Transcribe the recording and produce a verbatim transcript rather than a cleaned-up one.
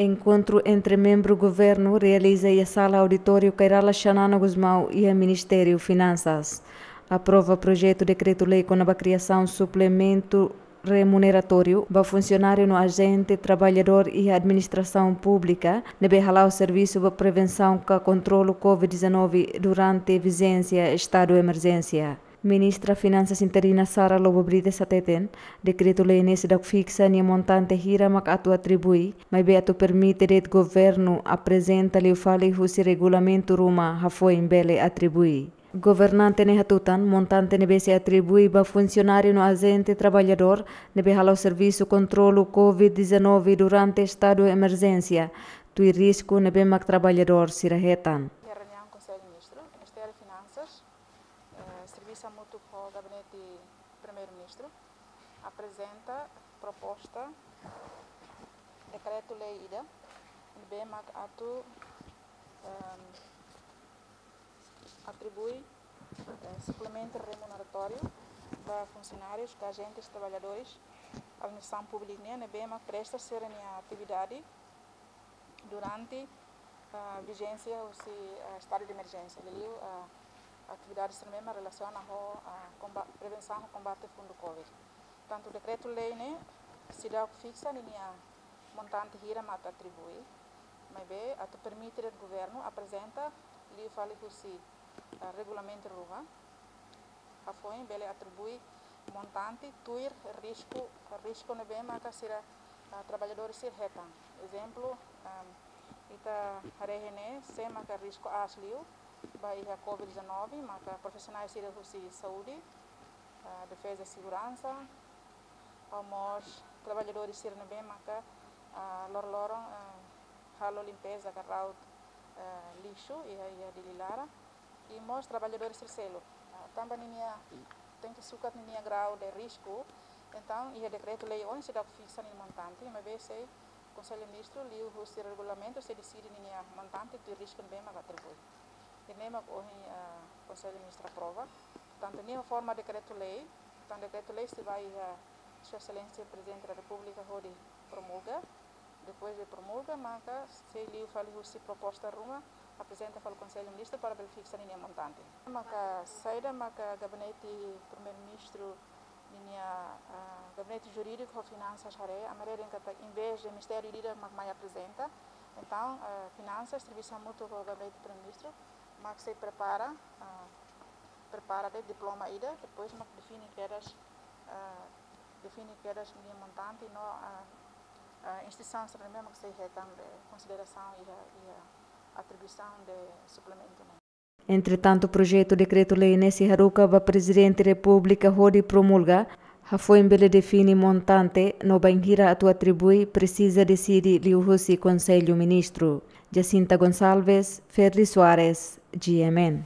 Enkontru entre membru governu realiza iha sala auditóriu Kay Rala Xanana Gusmão iha Ministériu Finansas. Aprova projetu dekretu-lei kona-ba kriasaun suplementu remuneratóriu ba funsionáriu no ajente traballadór iha administrasaun públika ne'ebé hala'o servisu ba prevensaun ka kontrolu covid dezanove durante vijénsia estadu emerjénsia. Ministra Finansas interina Sara Lobo Brites hateten, dekretu-lei ne'e seidauk fiksa nia montante hira mak atu atribui, maibé atu permite de'it governu aprezenta liu fali husi regulamentu ruma hafoin bele atribui. Governante ne'e hatutan, montante ne'ebé sei atribui ba funsionáriu no ajente traballadór ne'ebé hala'o servisu kontrolu covid dezanove durante estadu emerjénsia, tuir risku ne'ebé mak traballadór sira hetan. Iha reuniaun Konsellu Ministru, Ministériu Finansas, eh, servisu hamutuk ho Gabinete Primeiru-Ministru, aprezenta proposta dekretu-lei ida ne'ebé mak atu, ehm, atribui, eh, suplementu remuneratóriu ba funsionárius ka ajentes traballadores administrasaun públika nian ne'ebé mak presta sira-nia atividade durante, ah, vijénsia husi, ah, estadu de emerjénsia. Liuliu, ah, atividade sira ne'ebé mak relasiona ho, ah, komba-, prevensaun ho kombate fundu covid. Tantu dekretu-lei ne'e seidauk fiksa ninia montante hira mak atu atribui, maibé atu permite de'it governu aprezenta liu fali husi, ah, regulamentu ruma hafoin bele atribui montante tuir risku, risku ne'ebé maka sira, ah, traballadór sira hetan. Ezemplu, am, ita haree ne'e, sé maka risku aas liu ba iha covid dezanove, maka profisionál sira husi saúde, ah, defeza, seguransa, no mós traballadór sira ne'ebé maka, ah, loron-loron, ah, halo limpeza ka raut, ah, lixu iha, iha Dili laran. I mós traballadór sira seluk. Ah, tanba ninia, tenke sukat ninia grau de risku. Entaun, iha dekretu-lei ohin seidauk fiksa ninia montante, maibé sei Konsellu Ministru liu husi regulamentu sei deside ninia montante tuir risku ne'ebé mak atribui. Ida-ne'e mak ohin, ah, Konsellu Ministru aprova. Tantu ne'e forma dekretu-lei, tantu dekretu-lei sei ba iha Sua Exelénsia Prezidente da Repúblika hodi promulga. Depois de promulga, maka sei liu fali husi proposta ruma, aprezenta fali Konsellu Ministru para bele fiksa ninia montante. Maka saida maka Gabinete Primeiru-Ministru ninia, ah, Gabinete Jurídiku ho Finansas haree, ami haree dehan katak envezde ministériu ida mak mai aprezenta. Entaun, ah, Finansas servisu hamutuk ho Gabinete Primeiru-Ministru, mak sei prepara, ah, prepara de'it diploma ida, depois mak define kedas, ah, define kedas ninia montante no, ah, ah, instituisaun sira ne'ebé mak sei hetan be konsiderasaun iha, iha atribuisaun de suplementu ne'e. Entretantu, projetu dekretu-lei ne'e sei haruka ba Prezidente Repúblika hodi promulga, hafoin bele define montante no bainhira atu atribui presiza deside liu husi Konsellu Ministru. Jacinta Gonçalves, Ferdi Soares, G M N.